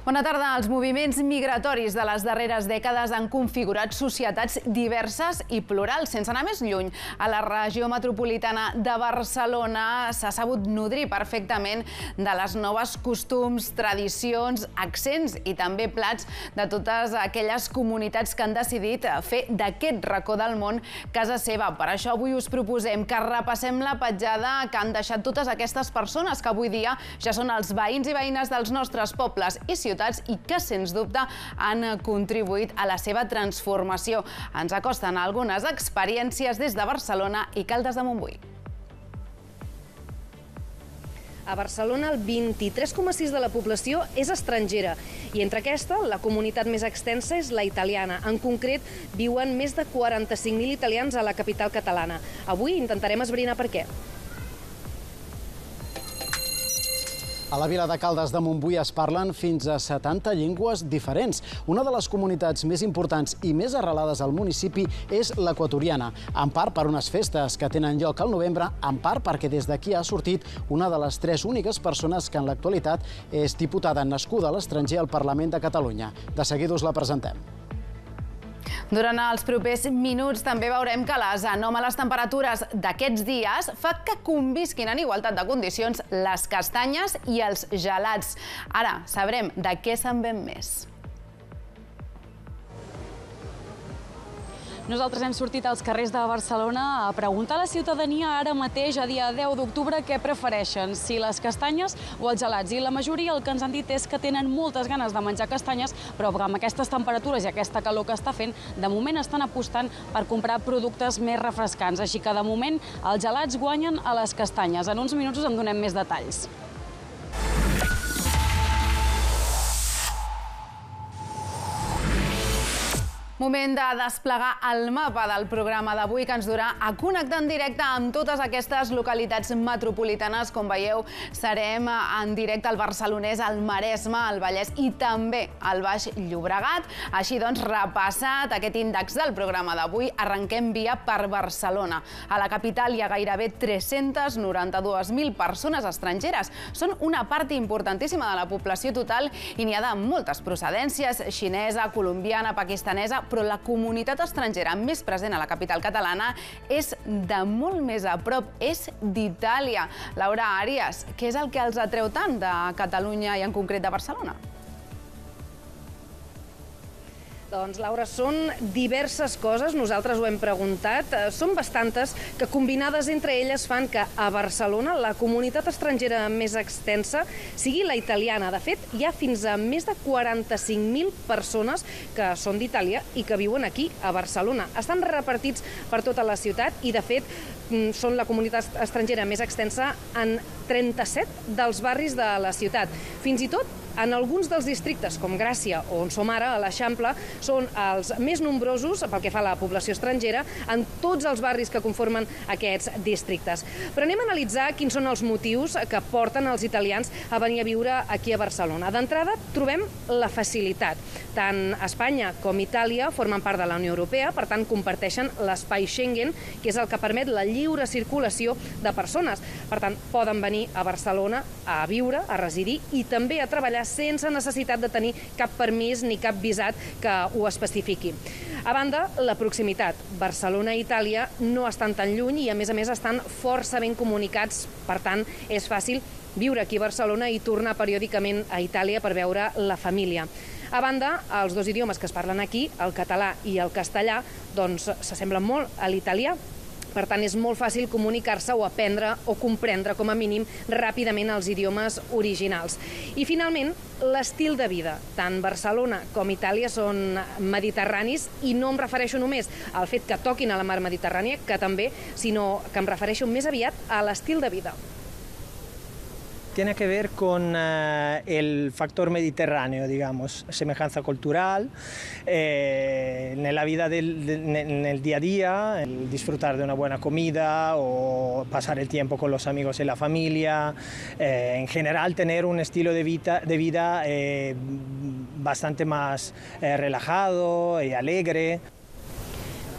Bona tarda. Els moviments migratoris de les darreres dècades han configurat societats diverses i plurals. Sense anar més lluny, a la regió metropolitana de Barcelona s'ha sabut nodrir perfectament de les noves costums, tradicions, accents i també plats de totes aquelles comunitats que han decidit fer d'aquest racó del món casa seva. Per això avui us proposem que repassem la petjada que han deixat totes aquestes persones que avui dia ja són els veïns i veïnes dels nostres pobles i ciutats i que, sens dubte, han contribuït a la seva transformació. Ens acosten algunes experiències des de Barcelona i Caldes de Montbui. A Barcelona, el 23,6% de la població és estrangera i entre aquesta, la comunitat més extensa és la italiana. En concret, viuen més de 45.000 italians a la capital catalana. Avui intentarem esbrinar per què. A la vila de Caldes de Montbui es parlen fins a 70 llengües diferents. Una de les comunitats més importants i més arrelades al municipi és l'equatoriana, en part per unes festes que tenen lloc al novembre, en part perquè des d'aquí ha sortit una de les 3 úniques persones que en l'actualitat és diputada nascuda a l'estranger al Parlament de Catalunya. De seguida us la presentem. Durant els propers minuts també veurem que les anòmales temperatures d'aquests dies fa que convisquin en igualtat de condicions les castanyes i els gelats. Ara sabrem de què se'n ven més. Nosaltres hem sortit als carrers de Barcelona a preguntar a la ciutadania ara mateix, a dia 10 d'octubre, què prefereixen, si les castanyes o els gelats. I la majoria el que ens han dit és que tenen moltes ganes de menjar castanyes, però amb aquestes temperatures i aquesta calor que està fent, de moment estan apostant per comprar productes més refrescants. Així que de moment els gelats guanyen a les castanyes. En uns minuts us en donem més detalls. Moment de desplegar el mapa del programa d'avui que ens durà a connectar en directe amb totes aquestes localitats metropolitanes. Com veieu, serem en directe al Barcelonès, al Maresme, al Vallès i també al Baix Llobregat. Així doncs, repassat aquest índex del programa d'avui, arrenquem via per Barcelona. A la capital hi ha gairebé 392.000 persones estrangeres. Són una part importantíssima de la població total i n'hi ha de moltes procedències, xinesa, colombiana, pakistanesa, però la comunitat estrangera més present a la capital catalana és de molt més a prop, és d'Itàlia. Laura Àrias, què és el que els atreu tant de Catalunya i en concret de Barcelona? Doncs, Laura, són diverses coses, nosaltres ho hem preguntat, són bastantes que combinades entre elles fan que a Barcelona la comunitat estrangera més extensa sigui la italiana. De fet, hi ha fins a més de 45.000 persones que són d'Itàlia i que viuen aquí, a Barcelona. Estan repartits per tota la ciutat i, de fet, són la comunitat estrangera més extensa en 37 dels barris de la ciutat. Fins i tot, en alguns dels districtes, com Gràcia o on som ara, a l'Eixample, són els més nombrosos pel que fa a la població estrangera en tots els barris que conformen aquests districtes. Però anem a analitzar quins són els motius que porten els italians a venir a viure aquí a Barcelona. D'entrada, trobem la facilitat. Tant Espanya com Itàlia formen part de la Unió Europea, per tant, comparteixen l'espai Schengen, que és el que permet la lliure circulació de persones. Per tant, poden venir a Barcelona a viure, a residir i també a treballar sense necessitat de tenir cap permís ni cap visat que ho especifiqui. A banda, la proximitat. Barcelona i Itàlia no estan tan lluny i, a més, estan força ben comunicats. Per tant, és fàcil viure aquí a Barcelona i tornar periòdicament a Itàlia per veure la família. A banda, els dos idiomes que es parlen aquí, el català i el castellà, doncs s'assemblen molt a l'italià. Per tant, és molt fàcil comunicar-se o aprendre o comprendre, com a mínim, ràpidament els idiomes originals. I, finalment, l'estil de vida. Tant Barcelona com Itàlia són mediterranis i no em refereixo només al fet que toquin a la mar Mediterrània, que també, sinó que em refereixo més aviat a l'estil de vida. Tiene que ver con el factor mediterráneo, digamos, semejanza cultural, en la vida en el día a día, el disfrutar de una buena comida o pasar el tiempo con los amigos y la familia, en general tener un estilo de vida bastante más relajado y alegre.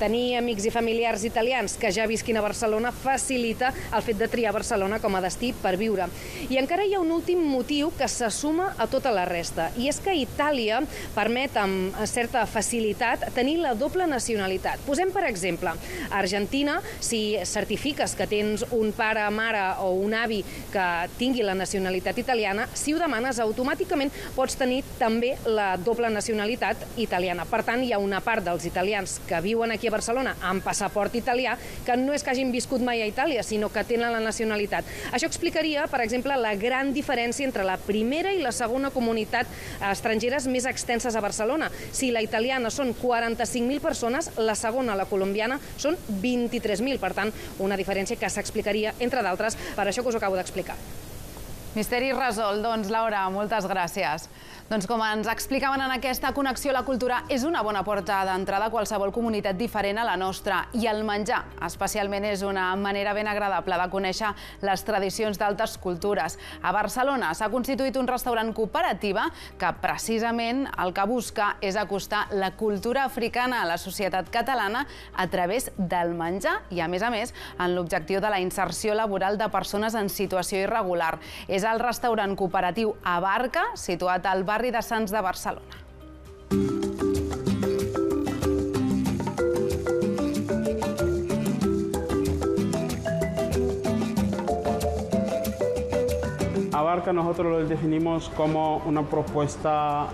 Tenir amics i familiars italians que ja visquin a Barcelona facilita el fet de triar Barcelona com a destí per viure. I encara hi ha un últim motiu que se suma a tota la resta, i és que Itàlia permet amb certa facilitat tenir la doble nacionalitat. Posem, per exemple, a Argentina, si certifiques que tens un pare, mare o un avi que tingui la nacionalitat italiana, si ho demanes, automàticament pots tenir també la doble nacionalitat italiana. Per tant, hi ha una part dels italians que viuen aquí a Barcelona amb passaport italià que no és que hagin viscut mai a Itàlia, sinó que tenen la nacionalitat. Això explicaria, per exemple, la gran diferència entre la primera i la segona comunitat estrangeres més extenses a Barcelona. Si la italiana són 45.000 persones, la segona, la colombiana, són 23.000. Per tant, una diferència que s'explicaria, entre d'altres, per això que us acabo d'explicar. Misteri resolt. Doncs, Laura, moltes gràcies. Doncs com ens explicaven en aquesta connexió, la cultura és una bona porta d'entrada a qualsevol comunitat diferent a la nostra, i el menjar especialment és una manera ben agradable de conèixer les tradicions d'altres cultures. A Barcelona s'ha constituït un restaurant cooperativa que precisament el que busca és acostar la cultura africana a la societat catalana a través del menjar i, a més, en l'objectiu de la inserció laboral de persones en situació irregular. És el restaurant cooperatiu Abarca, situat al barri de Sants de Barcelona. Abarca nosotros lo definimos como una propuesta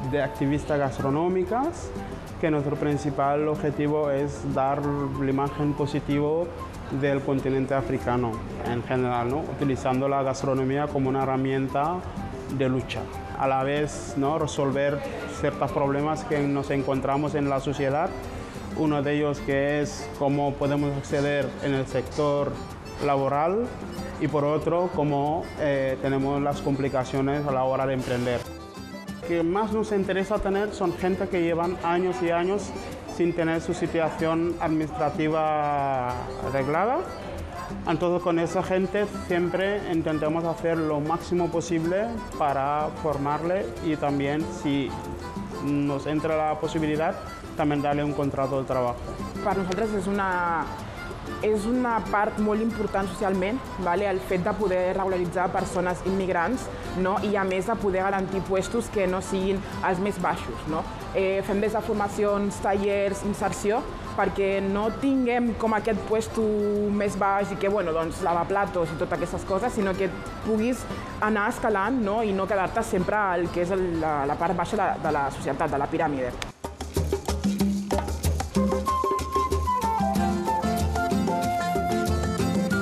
de activistas gastronómicas, que nuestro principal objetivo es dar la imagen positiva del continente africano en general, ¿no? Utilizando la gastronomía como una herramienta de lucha. A la vez, ¿no?, resolver ciertos problemas que nos encontramos en la sociedad. Uno de ellos que es cómo podemos acceder en el sector laboral y por otro cómo tenemos las complicaciones a la hora de emprender. Lo que más nos interesa tener son gente que llevan años y años sin tener su situación administrativa arreglada. Entonces, con esa gente siempre intentamos hacer lo máximo posible para formarle y también, si nos entra la posibilidad, también darle un contrato de trabajo. Per nosaltres és una part molt important socialment, el fet de poder regularitzar persones immigrants, i a més de poder garantir puestos que no siguin els més baixos. Fem des de formacions, tallers, inserció, perquè no tinguem com aquest puesto més baix i que, lavaplatos i totes aquestes coses, sinó que puguis anar escalant i no quedar-te sempre al que és la part baixa de la societat, de la piràmide.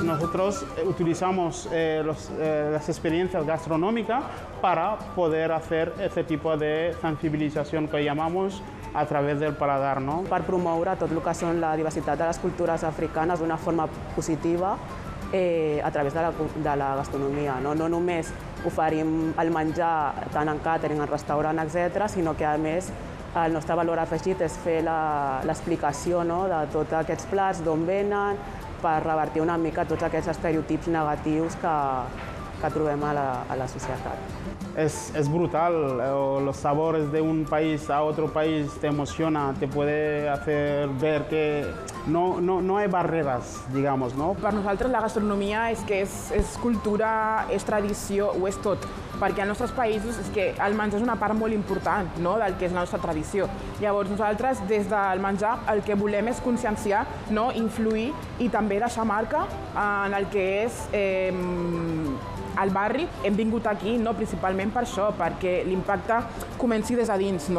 Nosotros utilizamos las experiencias gastronómicas para poder hacer este tipo de sensibilización que llamamos a través del paladar, no? Per promoure tot el que són la diversitat de les cultures africanes d'una forma positiva a través de la gastronomia. No només oferim el menjar tant en càtering, en restaurant, etc., sinó que, a més, el nostre valor afegit és fer l'explicació de tots aquests plats, d'on venen, per revertir una mica tots aquests estereotips negatius que trobem a la societat. Es brutal, los sabores de un país a otro país te emociona, te puede hacer ver que no hay barreras, digamos, no? Per nosaltres la gastronomia és que és cultura, és tradició, ho és tot. Perquè als nostres països és que el menjar és una part molt important del que és la nostra tradició. Llavors nosaltres des del menjar el que volem és conscienciar, influir i també deixar marca en el que és al barri. Hem vingut aquí principalment per això, perquè l'impacte comenci des de dins.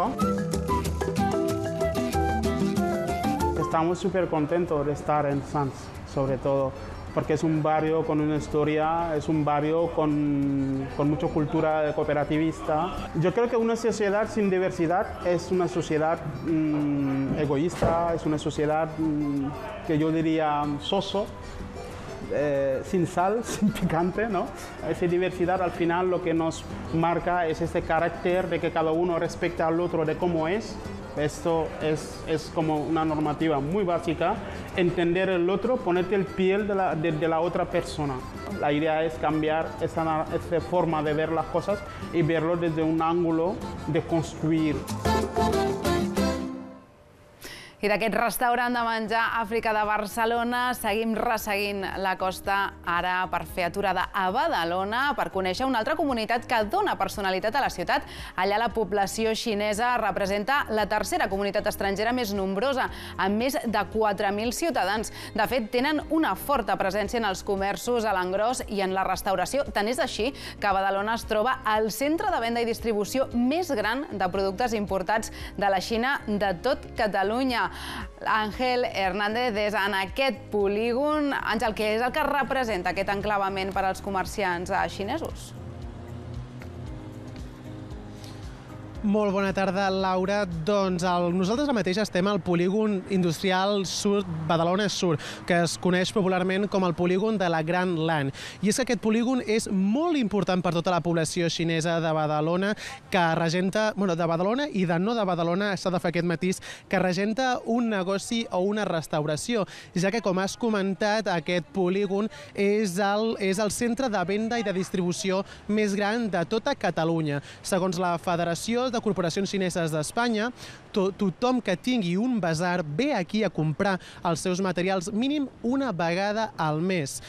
Estamos súper contentos de estar en Sants, sobre todo, porque es un barrio con una historia, es un barrio con mucha cultura cooperativista. Yo creo que una sociedad sin diversidad es una sociedad egoísta, es una sociedad que yo diría soso, sin sal, sin picante, ¿no? Esa diversidad al final lo que nos marca es este carácter de que cada uno respeta al otro de cómo es. Esto es como una normativa muy básica, entender el otro, ponerte el piel de la otra persona. La idea es cambiar esa forma de ver las cosas y verlo desde un ángulo de construir. I d'aquest restaurant de menjar Àfrica de Barcelona seguim resseguint la costa ara per fer aturada a Badalona per conèixer una altra comunitat que dona personalitat a la ciutat. Allà la població xinesa representa la tercera comunitat estrangera més nombrosa, amb més de 4.000 ciutadans. De fet, tenen una forta presència en els comerços a l'engròs i en la restauració. Tant és així que Badalona es troba al centre de venda i distribució més gran de productes importats de la Xina de tot Catalunya. Àngel Hernández és en aquest polígon. Àngel, què és el que representa aquest enclavament per als comerciants xinesos? Molt bona tarda, Laura. Doncs nosaltres mateix estem al polígon industrial Sud, Badalona Sur, que es coneix popularment com el polígon de la Gran Lan. I és que aquest polígon és molt important per tota la població xinesa de Badalona, que regenta, de Badalona i de no de Badalona, s'ha de fer aquest matís, que regenta un negoci o una restauració, ja que, com has comentat, aquest polígon és el centre de venda i de distribució més gran de tota Catalunya. Segons la Federació de Corporacions Xineses d'Espanya, tothom que tingui un basar ve aquí a comprar els seus materials mínim una vegada al mes.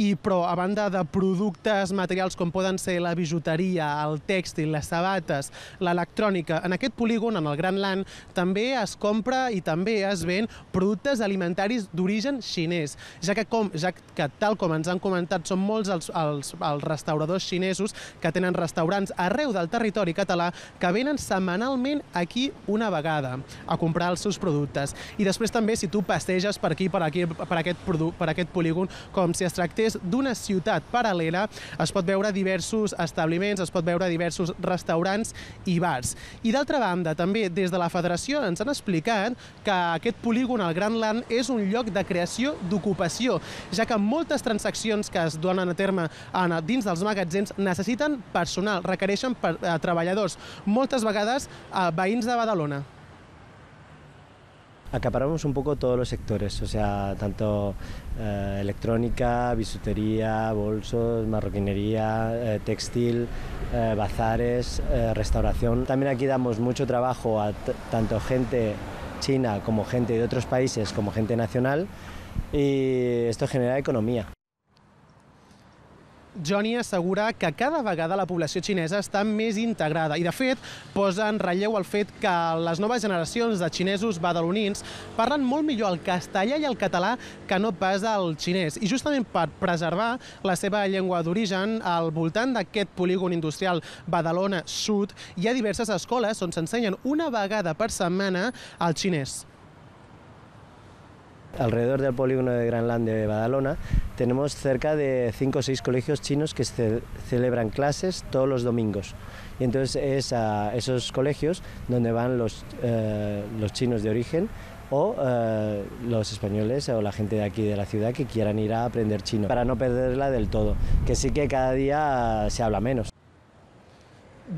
Però a banda de productes materials com poden ser la bijuteria, el tèxtil, les sabates, l'electrònica, en aquest polígon, en el Gran Lan, també es compra i també es ven productes alimentaris d'origen xinès, ja que tal com ens han comentat, són molts els restauradors xinesos que tenen restaurants arreu del territori català que venen setmanalment aquí una vegada a comprar els seus productes. I després també, si tu passeges per aquí, per aquest polígon, com si es tractés d'una ciutat paral·lela, es pot veure diversos establiments, es pot veure diversos restaurants i bars. I d'altra banda, també des de la Federació ens han explicat que aquest polígon, el Gran Lan, és un lloc de creació d'ocupació, ja que moltes transaccions que es donen a terme dins dels magatzems necessiten personal, requereixen treballadors, moltes vegades veïns de Badalona. Acaparamos un poco todos los sectores, o sea, tanto electrónica, bisutería, bolsos, marroquinería, textil, bazares, restauración. También aquí damos mucho trabajo a tanto gente china como gente de otros países, como gente nacional, y esto genera economía. Johnny assegura que cada vegada la població xinesa està més integrada i, de fet, posa en relleu el fet que les noves generacions de xinesos badalonins parlen molt millor el castellà i el català que no pas el xinès. I justament per preservar la seva llengua d'origen, al voltant d'aquest polígon industrial Badalona Sud hi ha diverses escoles on s'ensenyen una vegada per setmana el xinès. Alrededor del polígono de Gran Lan de Badalona tenemos cerca de 5 o 6 colegios chinos que celebran clases todos los domingos. Y entonces es a esos colegios donde van los chinos de origen o los españoles o la gente de aquí de la ciudad que quieran ir a aprender chino, para no perderla del todo, que sí que cada día se habla menos.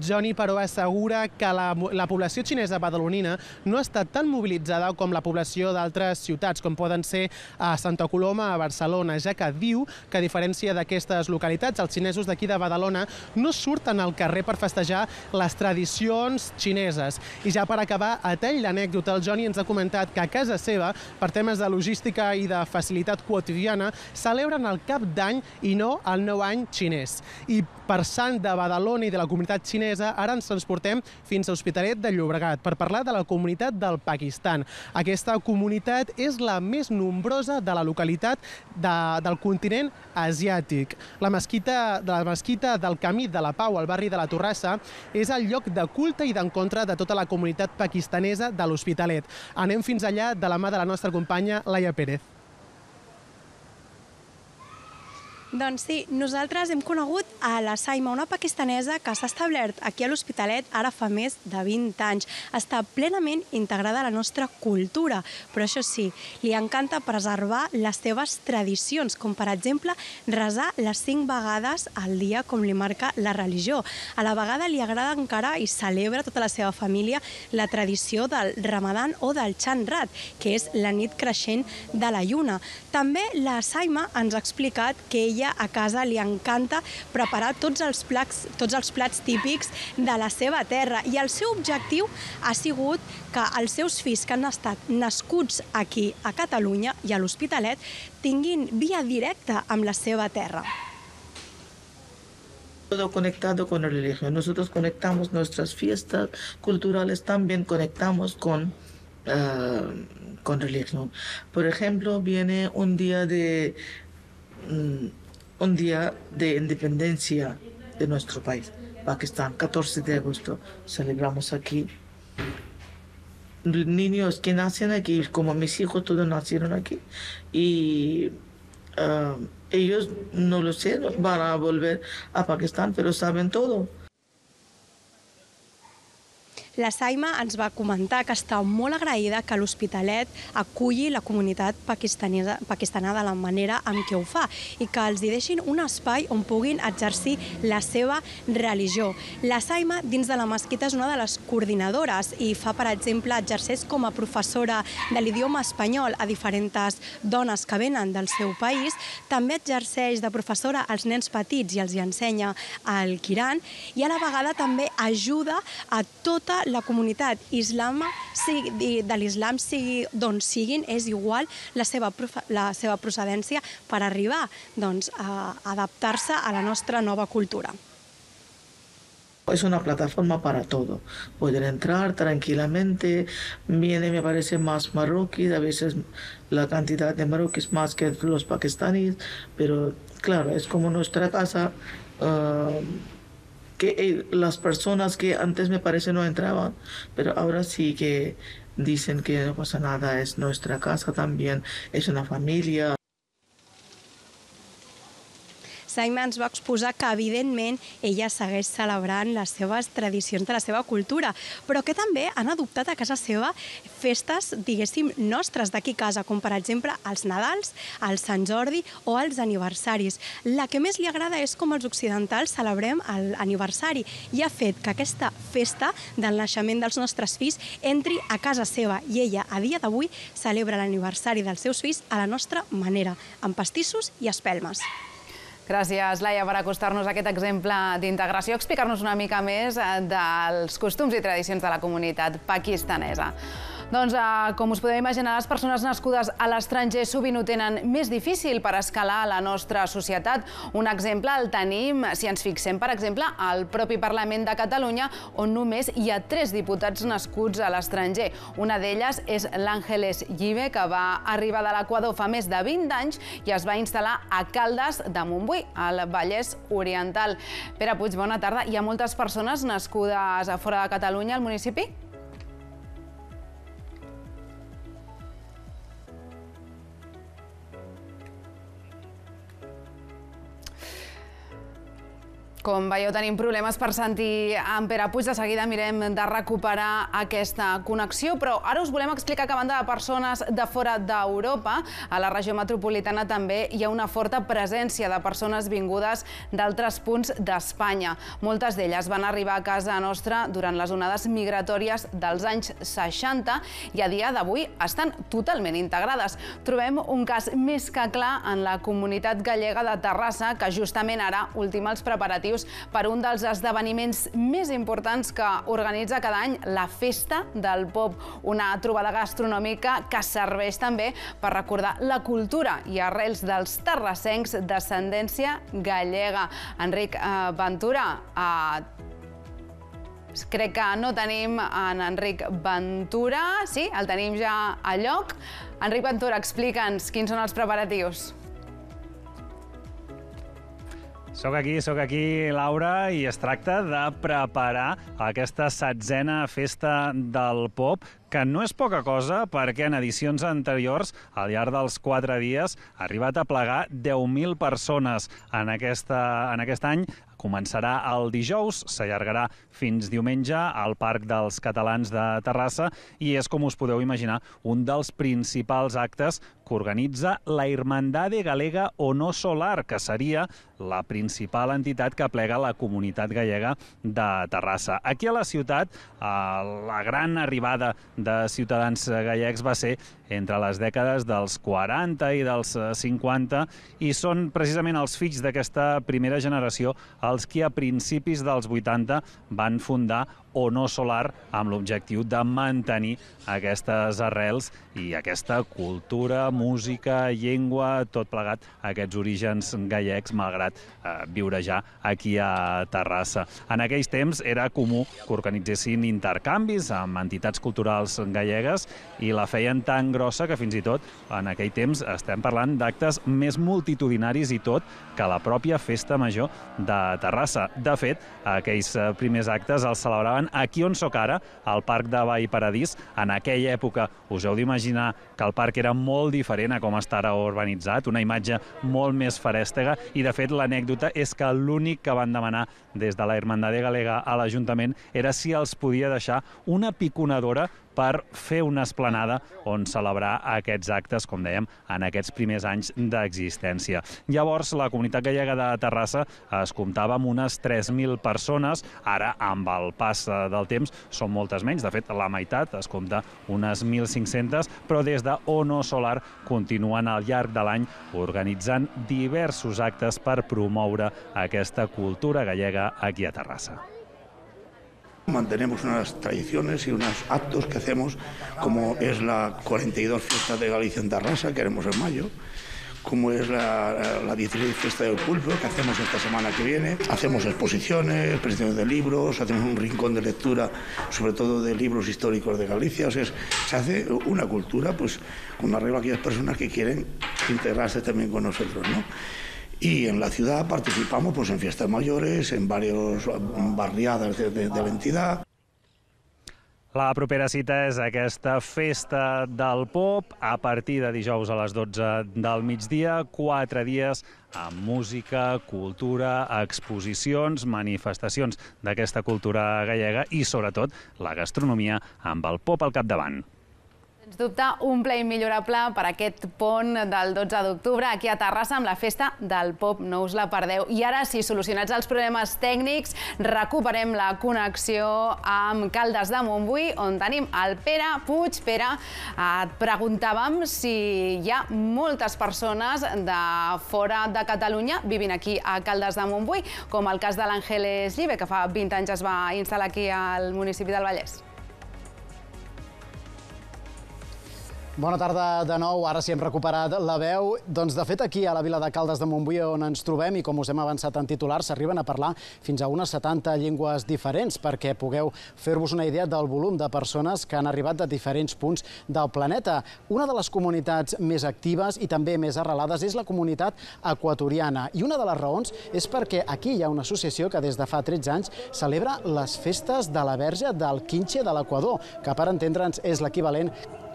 Johnny, però, assegura que la població xinesa badalonina no està tan mobilitzada com la població d'altres ciutats, com poden ser a Santa Coloma, a Barcelona, ja que diu que, a diferència d'aquestes localitats, els xinesos d'aquí de Badalona no surten al carrer per festejar les tradicions xineses. I ja per acabar, a tall d'anècdota, el Johnny ens ha comentat que a casa seva, per temes de logística i de facilitat quotidiana, celebren el Cap d'Any i no el Nou Any xinès. I per sant de Badalona i de la comunitat xinesa, ara ens transportem fins a Hospitalet de Llobregat per parlar de la comunitat del Pakistan. Aquesta comunitat és la més nombrosa de la localitat del continent asiàtic. La mesquita del Camí de la Pau, al barri de la Torrassa, és el lloc de culte i d'encontre de tota la comunitat pakistanesa de l'Hospitalet. Anem fins allà de la mà de la nostra companya Laia Pérez. Doncs sí, nosaltres hem conegut a la Saima, una pakistanesa que s'ha establert aquí a l'Hospitalet ara fa més de 20 anys. Està plenament integrada a la nostra cultura, però això sí, li encanta preservar les seves tradicions, com per exemple resar les 5 vegades al dia com li marca la religió. A la vegada li agrada encara i celebra tota la seva família la tradició del Ramadan o del Chandrat, que és la nit creixent de la lluna. També la Saima ens ha explicat que ella ella a casa li encanta preparar tots els plats típics de la seva terra i el seu objectiu ha sigut que els seus fills que han estat nascuts aquí a Catalunya i a l'Hospitalet tinguin via directa amb la seva terra. Todo conectado con la religión. Nosotros conectamos nuestras fiestas culturales, también conectamos con religión. Por ejemplo, viene un día de independencia de nuestro país, Pakistán, 14 de agosto. Celebramos aquí. Niños que nacen aquí, como mis hijos, todos nacieron aquí. Y ellos, no lo sé, van a volver a Pakistán, pero saben todo. La Saima ens va comentar que està molt agraïda que l'Hospitalet aculli la comunitat pakistanesa de la manera en què ho fa i que els hi deixin un espai on puguin exercir la seva religió. La Saima, dins de la mesquita, és una de les coordinadores i fa, per exemple, exerceix com a professora de l'idioma espanyol a diferents dones que venen del seu país. També exerceix de professora als nens petits i els hi ensenya el Quiran i a la vegada també ajuda a tota la comunitat de l'islam, sigui d'on siguin, és igual la seva procedència per arribar a adaptar-se a la nostra nova cultura. Es una plataforma para todo. Poder entrar tranquilamente. Viene, me parece, más marroquíes. A veces la cantidad de marroquíes más que los pakistaníes. Pero claro, es como nuestra casa. Que las personas que antes me parece no entraban, pero ahora sí que dicen que no pasa nada, es nuestra casa también, es una familia. Saima ens va exposar que, evidentment, ella segueix celebrant les seves tradicions de la seva cultura, però que també han adoptat a casa seva festes, diguéssim, nostres d'aquí a casa, com per exemple els Nadals, el Sant Jordi o els aniversaris. La que més li agrada és com els occidentals celebrem l'aniversari i ha fet que aquesta festa del naixement dels nostres fills entri a casa seva i ella, a dia d'avui, celebra l'aniversari dels seus fills a la nostra manera, amb pastissos i espelmes. Gràcies, Laia, per acostar-nos a aquest exemple d'integració, explicar-nos una mica més dels costums i tradicions de la comunitat pakistanesa. Doncs, com us podeu imaginar, les persones nascudes a l'estranger sovint ho tenen més difícil per escalar a la nostra societat. Un exemple el tenim, si ens fixem, per exemple, al propi Parlament de Catalunya, on només hi ha 3 diputats nascuts a l'estranger. Una d'elles és l'Àngeles Llive, que va arribar de l'Equador fa més de 20 anys i es va instal·lar a Caldes de Montbui, al Vallès Oriental. Pere Puig, bona tarda. Hi ha moltes persones nascudes a fora de Catalunya al municipi? Com veieu, tenim problemes per sentir en Pere Puig. De seguida mirem de recuperar aquesta connexió, però ara us volem explicar que a banda de persones de fora d'Europa, a la regió metropolitana també hi ha una forta presència de persones vingudes d'altres punts d'Espanya. Moltes d'elles van arribar a casa nostra durant les onades migratòries dels anys 60 i a dia d'avui estan totalment integrades. Trobem un cas més que clar en la comunitat gallega de Terrassa, que justament ara ultima els preparatius per un dels esdeveniments més importants que organitza cada any, la Festa del Pop, una trobada gastronòmica que serveix també per recordar la cultura i arrels dels terrassencs d'ascendència gallega. Enric Ventura, crec que no tenim en Enric Ventura. Sí, el tenim ja a lloc. Enric Ventura, explica'ns quins són els preparatius. Soc aquí, Laura, i es tracta de preparar aquesta 7a Festa del Pop, que no és poca cosa perquè en edicions anteriors, al llarg dels 4 dies, ha arribat a plegar 10.000 persones. En aquest any començarà el dijous, s'allargarà fins diumenge al Parc dels Catalans de Terrassa i és, com us podeu imaginar, un dels principals actes que organitza la Irmandade Galega o No Solar, que seria la principal entitat que aplega la comunitat gallega de Terrassa. Aquí a la ciutat, la gran arribada de ciutadans gallecs va ser entre les dècades dels 40 i dels 50 i són precisament els fills d'aquesta primera generació els que a principis dels 80 van fundar o No Solar amb l'objectiu de mantenir aquestes arrels i aquesta cultura, música, llengua, tot plegat, aquests orígens gallecs, malgrat viure ja aquí a Terrassa. En aquells temps era comú que organitzessin intercanvis amb entitats culturals gallegues i la feien tan grossa que fins i tot en aquell temps estem parlant d'actes més multitudinaris i tot que la pròpia Festa Major de Terrassa. De fet, aquells primers actes els celebraven aquí on soc ara, al Parc de Vallparadís. En aquella època us heu d'imaginar que el parc era molt diferent a com està ara urbanitzat, una imatge molt més ferèstega i, de fet, l'anècdota és que l'únic que van demanar des de la Irmandade Galega a l'Ajuntament era si els podia deixar una piconadora per fer una esplanada on celebrar aquests actes, com dèiem, en aquests primers anys d'existència. Llavors, la comunitat gallega de Terrassa es comptava amb unes 3.000 persones. Ara, amb el pas del temps, són moltes menys. De fet, la meitat es compta unes 1.500, però des de O No Solar continuen al llarg de l'any organitzant diversos actes per promoure aquesta cultura gallega aquí a Terrassa. Mantenemos unas tradiciones y unos actos que hacemos, como es la 42 Fiesta de Galicia en Terrassa, que haremos en mayo, como es la 16 Fiesta del Pulpo, que hacemos esta semana que viene. Hacemos exposiciones, presentaciones de libros, hacemos un rincón de lectura, sobre todo de libros históricos de Galicia. O sea, se hace una cultura, pues, con arreglo a aquellas personas que quieren integrarse también con nosotros, ¿no? Y en la ciudad participamos pues en fiestas mayores, en varias barriadas de la entidad. La propera cita és aquesta Festa del Pop a partir de dijous a les 12 del migdia, 4 dies amb música, cultura, exposicions, manifestacions d'aquesta cultura gallega i, sobretot, la gastronomia amb el pop al capdavant. Sens dubte, un ple immillorable per aquest pont del 12 d'octubre aquí a Terrassa amb la Festa del Pop. No us la perdeu. I ara sí, solucionats els problemes tècnics, recuperem la connexió amb Caldes de Montbui, on tenim el Pere Puig. Pere, et preguntàvem si hi ha moltes persones de fora de Catalunya vivint aquí a Caldes de Montbui, com el cas de l'Àngeles Llive, que fa 20 anys es va instal·lar aquí al municipi del Vallès. Bona tarda de nou, ara sí hem recuperat la veu. Doncs de fet aquí a la vila de Caldes de Montbui on ens trobem i com us hem avançat en titulars s'arriben a parlar fins a unes 70 llengües diferents perquè pugueu fer-vos una idea del volum de persones que han arribat de diferents punts del planeta. Una de les comunitats més actives i també més arrelades és la comunitat equatoriana i una de les raons és perquè aquí hi ha una associació que des de fa 13 anys celebra les festes de la Verge del Quinxe de l'Equador, que per entendre'ns és l'equivalent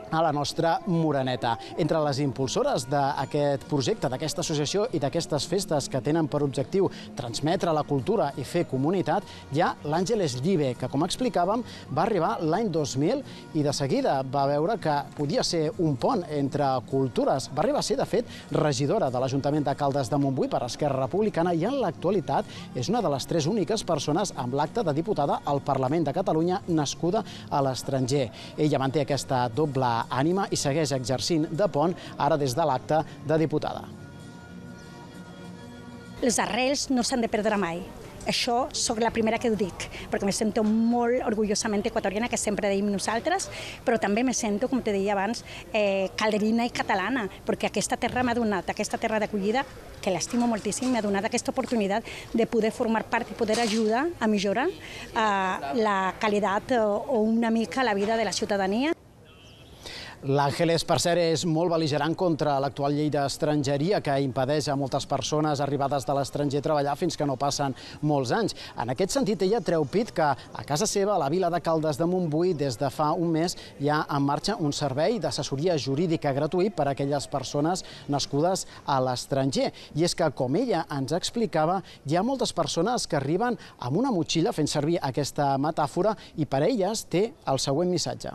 a la nostra Moreneta. Entre les impulsores d'aquest projecte, d'aquesta associació i d'aquestes festes que tenen per objectiu transmetre la cultura i fer comunitat, hi ha l'Àngeles Llive, que, com explicàvem, va arribar l'any 2000 i de seguida va veure que podia ser un pont entre cultures. Va arribar a ser, de fet, regidora de l'Ajuntament de Caldes de Montbui per Esquerra Republicana i en l'actualitat és una de les 3 úniques persones amb l'acta de diputada al Parlament de Catalunya nascuda a l'estranger. Ella manté aquesta doble ànima i segueix exercint de pont ara des de l'acte de diputada. Les arrels no s'han de perdre mai. Això sóc la primera que ho dic, perquè me sento molt orgullosament equatoriana, que sempre deim nosaltres, però també me sento, com te deia abans, calderina i catalana, perquè aquesta terra m'ha donat, aquesta terra d'acollida, que l'estimo moltíssim, m'ha donat aquesta oportunitat de poder formar part i poder ajudar a millorar la qualitat o una mica la vida de la ciutadania. L'Àngeles, per cert, és molt bel·ligerant contra l'actual llei d'estrangeria que impedeix a moltes persones arribades de l'estranger treballar fins que no passen molts anys. En aquest sentit, ella treu pit que a casa seva, a la vila de Caldes de Montbui, des de fa un mes hi ha en marxa un servei d'assessoria jurídica gratuït per a aquelles persones nascudes a l'estranger. I és que, com ella ens explicava, hi ha moltes persones que arriben amb una motxilla, fent servir aquesta metàfora, i per a elles té el següent missatge.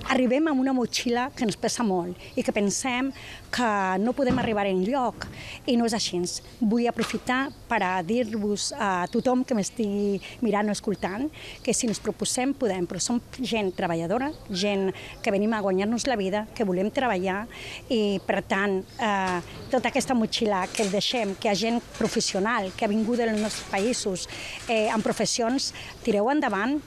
arribem amb una motxilla que ens pesa molt i que pensem que no podem arribar enlloc, i no és així. Vull aprofitar per a dir-vos a tothom que m'estigui mirant o escoltant que si ens proposem podem, però som gent treballadora, gent que venim a guanyar-nos la vida, que volem treballar, i per tant tota aquesta motxilla que deixem, que hi ha gent professional que ha vingut dels nostres països en professions, tireu endavant,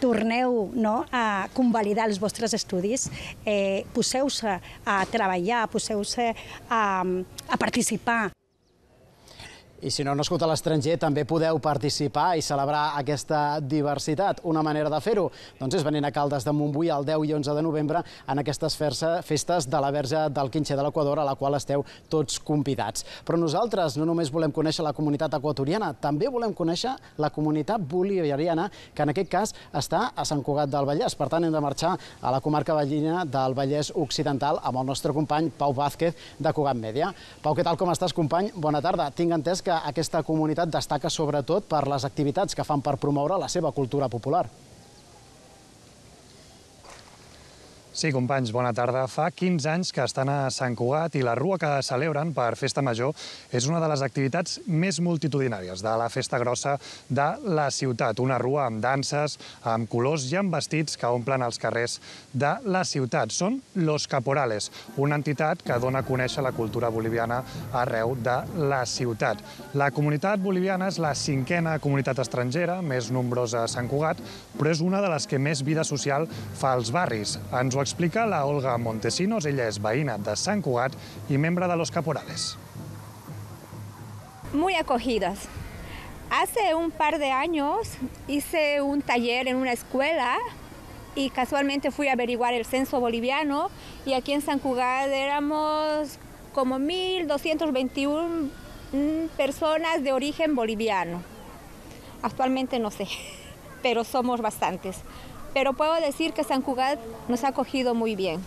torneu a convalidar els vostres estudis, poseu-se a treballar, poseu-se a participar. I si no heu nascut a l'estranger, també podeu participar i celebrar aquesta diversitat. Una manera de fer-ho és venint a Caldes de Montbui el 10 i 11 de novembre en aquestes festes de la Verge del Quinxer de l'Equador, a la qual esteu tots convidats. Però nosaltres no només volem conèixer la comunitat equatoriana, també volem conèixer la comunitat bolivariana, que en aquest cas està a Sant Cugat del Vallès. Per tant, hem de marxar a la comarca veïna del Vallès Occidental amb el nostre company Pau Vázquez, de Cugat Mèdia. Pau, què tal, com estàs, company? Bona tarda. Tinc entès que aquesta comunitat destaca sobretot per les activitats que fan per promoure la seva cultura popular. Sí, companys, bona tarda. Fa 15 anys que estan a Sant Cugat i la rua que celebren per Festa Major és una de les activitats més multitudinàries de la festa grossa de la ciutat. Una rua amb danses, amb colors i amb vestits que omplen els carrers de la ciutat. Són Los Caporales, una entitat que dona a conèixer la cultura boliviana arreu de la ciutat. La comunitat boliviana és la 5a comunitat estrangera, més nombrosa a Sant Cugat, però és una de les que més vida social fa als barris. Ens ho explica la Olga Montesinos, ella es veïna de Sant Cugat y membre de Los Caporales. Muy acogidas. Hace un par de años hice un taller en una escuela y casualmente fui a averiguar el censo boliviano y aquí en San Cugat éramos como 1.221 personas de origen boliviano. Actualmente no sé, pero somos bastantes. Pero puedo decir que Sant Cugat nos ha acogido muy bien.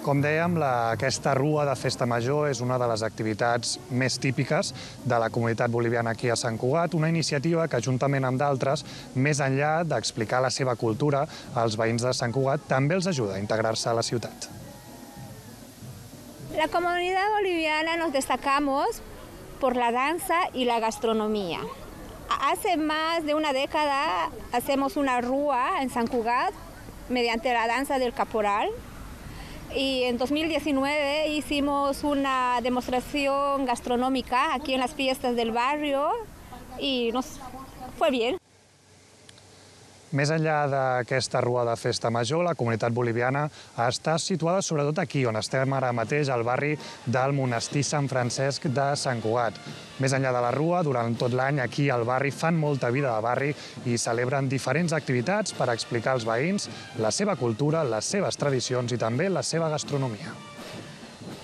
Com dèiem, aquesta rua de Festa Major és una de les activitats més típiques de la comunitat boliviana aquí a Sant Cugat, una iniciativa que, juntament amb d'altres, més enllà d'explicar la seva cultura als veïns de Sant Cugat, també els ajuda a integrar-se a la ciutat. La comunidad boliviana nos destacamos por la danza y la gastronomía. Hace más de una década hacemos una rúa en Sant Cugat mediante la danza del caporal y en 2019 hicimos una demostración gastronómica aquí en las fiestas del barrio y nos fue bien. Més enllà d'aquesta rua de Festa Major, la comunitat boliviana està situada sobretot aquí, on estem ara mateix, al barri del Monestir Sant Francesc de Sant Cugat. Més enllà de la rua, durant tot l'any aquí al barri fan molta vida de barri i celebren diferents activitats per explicar als veïns la seva cultura, les seves tradicions i també la seva gastronomia.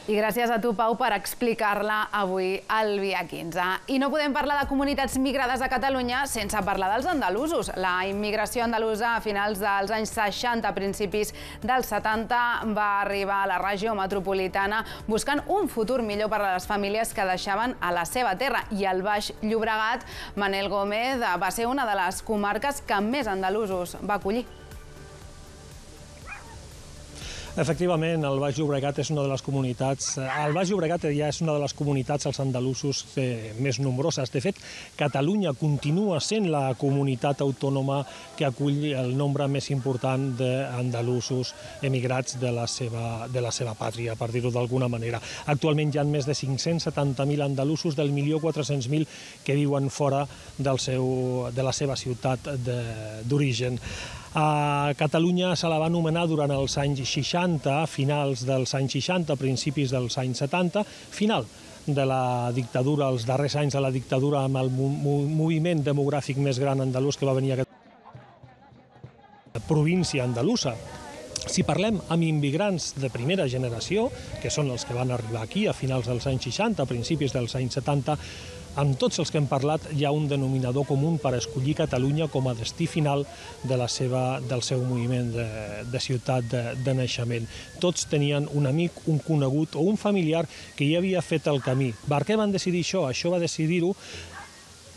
I gràcies a tu, Pau, per explicar-la avui al Via 15. I no podem parlar de comunitats migrades a Catalunya sense parlar dels andalusos. La immigració andalusa a finals dels anys 60, principis dels 70, va arribar a la regió metropolitana buscant un futur millor per a les famílies que deixaven a la seva terra. I el Baix Llobregat, Manel Gómez, va ser una de les comarques que més andalusos va acollir. Efectivament, el Baix Llobregat és una de les comunitats... El Baix Llobregat ja és una de les comunitats als andalusos més nombroses. De fet, Catalunya continua sent la comunitat autònoma que acull el nombre més important d'andalusos emigrats de la seva pàtria, per dir-ho d'alguna manera. Actualment hi ha més de 570.000 andalusos del 1.400.000 que viuen fora de la seva ciutat d'origen. A Catalunya se la va anomenar durant els anys 60, finals dels anys 60, principis dels anys 70, final de la dictadura, els darrers anys de la dictadura, amb el moviment demogràfic més gran andalús que va venir a aquesta província andalusa. Si parlem amb immigrants de primera generació, que són els que van arribar aquí a finals dels anys 60, principis dels anys 70, amb tots els que hem parlat hi ha un denominador comú per escollir Catalunya com a destí final del seu moviment de ciutat de naixement. Tots tenien un amic, un conegut o un familiar que ja havia fet el camí. Per què van decidir això? Això va decidir-ho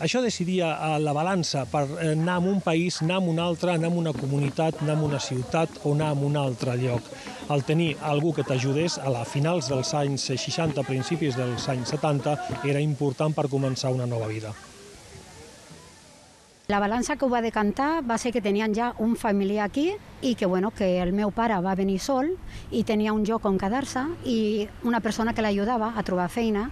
Això decidia la balança per anar a un país, anar a un altre, anar a una comunitat, anar a una ciutat o anar a un altre lloc. El tenir algú que t'ajudés a finals dels anys 60, principis dels anys 70, era important per començar una nova vida. La balança que ho va decantar va ser que tenien ja un familiar aquí i que el meu pare va venir sol i tenia un lloc on quedar-se i una persona que l'ajudava a trobar feina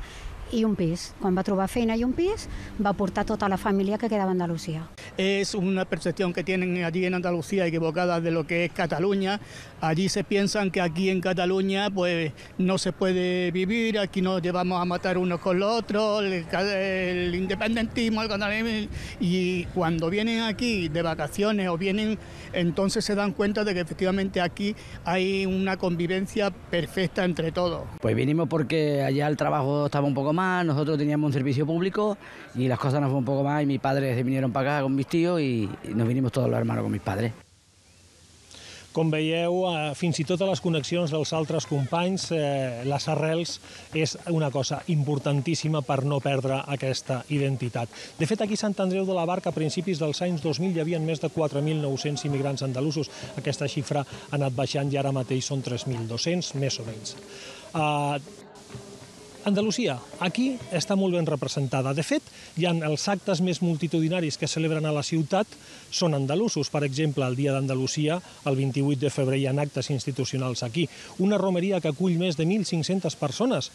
i un pis. Quan va trobar feina i un pis, va portar tota la família que quedava a Andalucía. Es una percepción que tienen allí en Andalucía equivocada de lo que es Cataluña. Allí se piensan que aquí en Cataluña pues no se puede vivir, aquí nos llevamos a matar unos con los otros, el independentismo, el catalanismo, y cuando vienen aquí de vacaciones o vienen, entonces se dan cuenta de que efectivamente aquí hay una convivencia perfecta entre todos. Pues vinimos porque allá el trabajo estaba un poco más, nosotros teníamos un servicio público y las cosas nos fueron un poco más y mis padres se vinieron para acá con mis tíos y nos vinimos todos los hermanos con mis padres. Com veieu, fins i tot a les connexions dels altres companys, les arrels és una cosa importantíssima per no perdre aquesta identitat. De fet, aquí a Sant Andreu de la Barca, a principis dels anys 2000, hi havia més de 4.900 immigrants andalusos. Aquesta xifra ha anat baixant i ara mateix són 3.200, més o menys. Andalusia, aquí està molt ben representada. De fet, hi ha els actes més multitudinaris que celebren a la ciutat, són andalusos. Per exemple, el Dia d'Andalusia, el 28 de febrer, hi ha actes institucionals aquí. Una romeria que acull més de 1.500 persones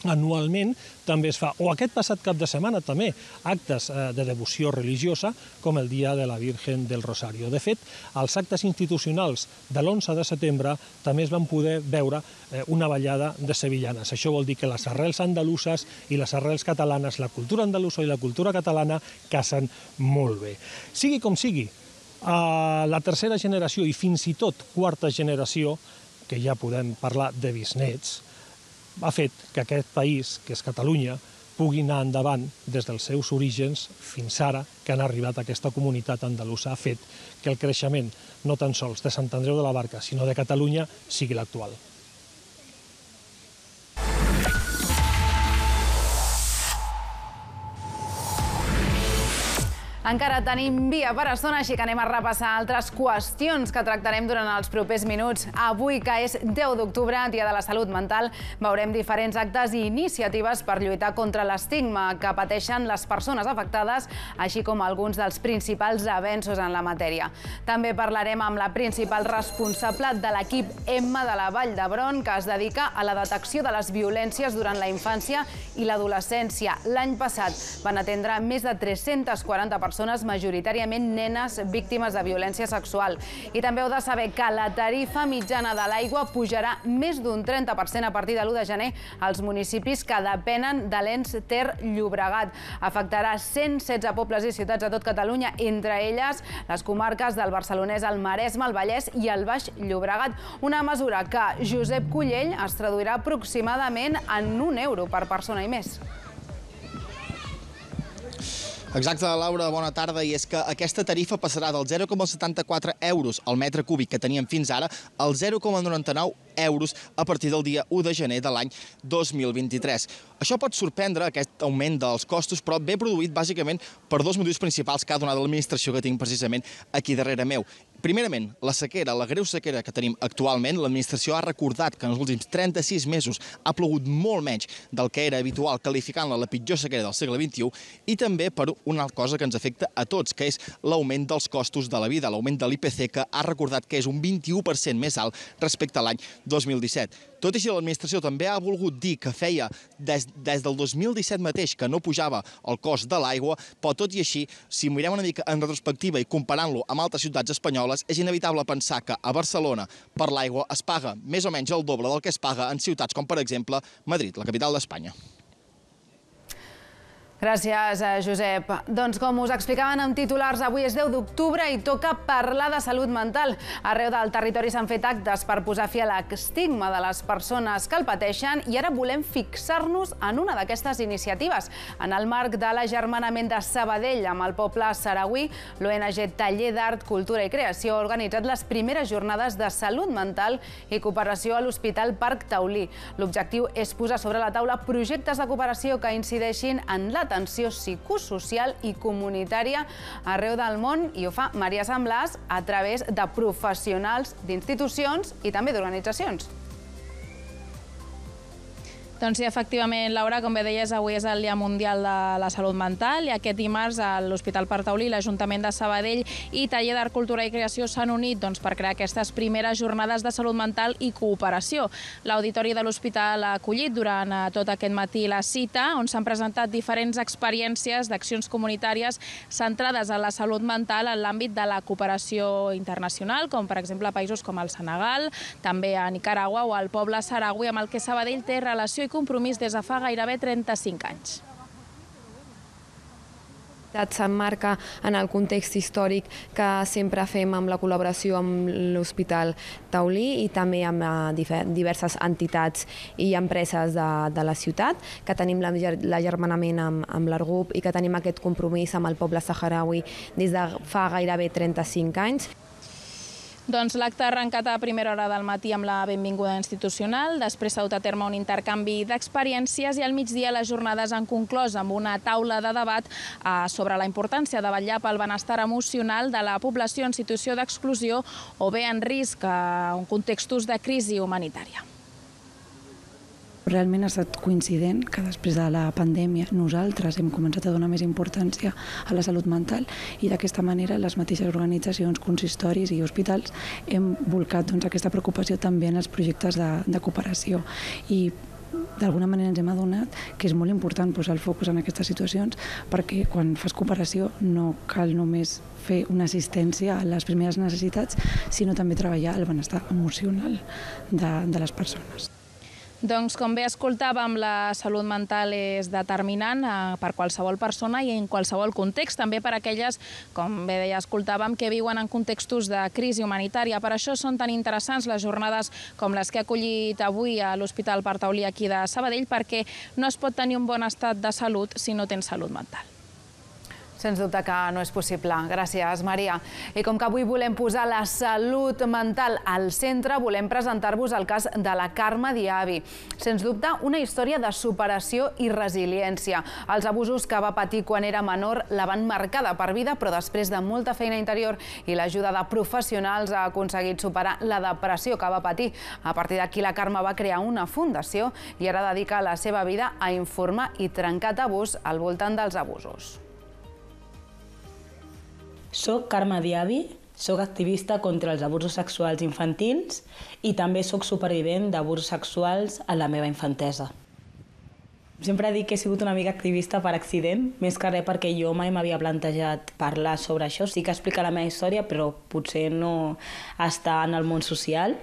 anualment també es fa, o aquest passat cap de setmana també, actes de devoció religiosa com el Dia de la Virgen del Rosario. De fet, als actes institucionals de l'11 de setembre també es van poder veure una ballada de sevillanes. Això vol dir que les arrels andaluses i les arrels catalanes, la cultura andalusa i la cultura catalana casen molt bé. Sigui com sigui, la tercera generació i fins i tot quarta generació, que ja podem parlar de bisnets, ha fet que aquest país, que és Catalunya, pugui anar endavant des dels seus orígens fins ara, que han arribat a aquesta comunitat andalusa, ha fet que el creixement no tan sols de Sant Andreu de la Barca, sinó de Catalunya, sigui l'actual. Encara tenim via per estona, així que anem a repassar altres qüestions que tractarem durant els propers minuts. Avui, que és 10 d'octubre, Dia de la Salut Mental, veurem diferents actes i iniciatives per lluitar contra l'estigma que pateixen les persones afectades, així com alguns dels principals avenços en la matèria. També parlarem amb la principal responsable de l'equip Emma de la Vall d'Hebron, que es dedica a la detecció de les violències durant la infància i l'adolescència. L'any passat van atendre més de 340 persones, majoritàriament nenes víctimes de violència sexual. I també heu de saber que la tarifa mitjana de l'aigua pujarà més d'un 30% a partir de l'1 de gener als municipis que depenen de l'ENS Ter Llobregat. Afectarà 116 pobles i ciutats de tot Catalunya, entre elles les comarques del Barcelonès, el Maresme, el Vallès i el Baix Llobregat. Una mesura que Josep Cullell es traduirà aproximadament en €1 per persona i mes. Exacte, Laura, bona tarda. I és que aquesta tarifa passarà dels 0,74 € al metre cúbic que teníem fins ara als 0,99 € a partir del dia 1 de gener de l'any 2023. Això pot sorprendre, aquest augment dels costos, però ve produït bàsicament per dos motius principals que ha donat l'administració que tinc precisament aquí darrere meu. Primerament, la sequera, la greu sequera que tenim actualment. L'administració ha recordat que en els últims 36 mesos ha plogut molt menys del que era habitual, qualificant-la la pitjor sequera del segle XXI, i també per una cosa que ens afecta a tots, que és l'augment dels costos de la vida, l'augment de l'IPC, que ha recordat que és un 21% més alt respecte a l'any 2017. Tot i així, l'administració també ha volgut dir que feia des del 2017 mateix que no pujava el cost de l'aigua, però tot i així, si mirem una mica en retrospectiva i comparant-lo amb altres ciutats espanyoles, és inevitable pensar que a Barcelona per l'aigua es paga més o menys el doble del que es paga en ciutats com, per exemple, Madrid, la capital d'Espanya. Gràcies, Josep. Doncs com us explicaven en titulars, avui és 10 d'octubre i toca parlar de salut mental. Arreu del territori s'han fet actes per posar fi a l'estigma de les persones que el pateixen i ara volem fixar-nos en una d'aquestes iniciatives. En el marc de l'agermanament de Sabadell amb el poble saragüí, l'ONG Taller d'Art, Cultura i Creació ha organitzat les primeres jornades de salut mental i cooperació a l'Hospital Parc Taulí. L'objectiu és posar sobre la taula projectes de cooperació que incideixin en la l'atenció psicosocial i comunitària arreu del món, i ho fa Maria Samblàs a través de professionals d'institucions i també d'organitzacions. Doncs sí, efectivament, Laura, com bé deies, avui és el Dia Mundial de la Salut Mental i aquest dimarts a l'Hospital Pare Taulí, l'Ajuntament de Sabadell i Taller d'Art, Cultura i Creació s'han unit per crear aquestes primeres jornades de salut mental i cooperació. L'Auditori de l'Hospital ha acollit durant tot aquest matí la cita, on s'han presentat diferents experiències d'accions comunitàries centrades en la salut mental en l'àmbit de la cooperació internacional, com per exemple a països com el Senegal, també a Nicaragua o al poble saharaui, amb el que Sabadell té relació i compromís des de fa gairebé 35 anys. S'emmarca en el context històric que sempre fem amb la col·laboració amb l'Hospital Taulí i també amb diverses entitats i empreses de la ciutat, que tenim l'agermanament amb l'ARGUP i que tenim aquest compromís amb el poble saharaui des de fa gairebé 35 anys. Doncs l'acte ha arrencat a primera hora del matí amb la benvinguda institucional, després s'ha dut a terme un intercanvi d'experiències i al migdia les jornades han conclòs amb una taula de debat sobre la importància de vetllar pel benestar emocional de la població en situació d'exclusió o bé en risc en contextos de crisi humanitària. Realment ha estat coincident que després de la pandèmia nosaltres hem començat a donar més importància a la salut mental i d'aquesta manera les mateixes organitzacions, consistoris i hospitals hem volcat aquesta preocupació també en els projectes de cooperació i d'alguna manera ens hem adonat que és molt important posar el focus en aquestes situacions perquè quan fas cooperació no cal només fer una assistència a les primeres necessitats, sinó també treballar el benestar emocional de les persones. Doncs, com bé escoltàvem, la salut mental és determinant per qualsevol persona i en qualsevol context, també per aquelles, com bé deia, escoltàvem, que viuen en contextos de crisi humanitària. Per això són tan interessants les jornades com les que ha acollit avui a l'Hospital Pare Taulí aquí de Sabadell, perquè no es pot tenir un bon estat de salut si no tens salut mental. Sens dubte que no és possible. Gràcies, Maria. I com que avui volem posar la salut mental al centre, volem presentar-vos el cas de la Carme Diaby. Sens dubte, una història de superació i resiliència. Els abusos que va patir quan era menor la van marcar de per vida, però després de molta feina interior i l'ajuda de professionals ha aconseguit superar la depressió que va patir. A partir d'aquí, la Carme va crear una fundació i ara dedica la seva vida a informar i trencar tabús al voltant dels abusos. Soc Carme Diaby, soc activista contra els abusos sexuals infantils i també soc supervivent d'abusos sexuals a la meva infantesa. Sempre dic que he sigut una mica activista per accident, més que res perquè jo mai m'havia plantejat parlar sobre això. Sí que explica la meva història, però potser no està en el món social.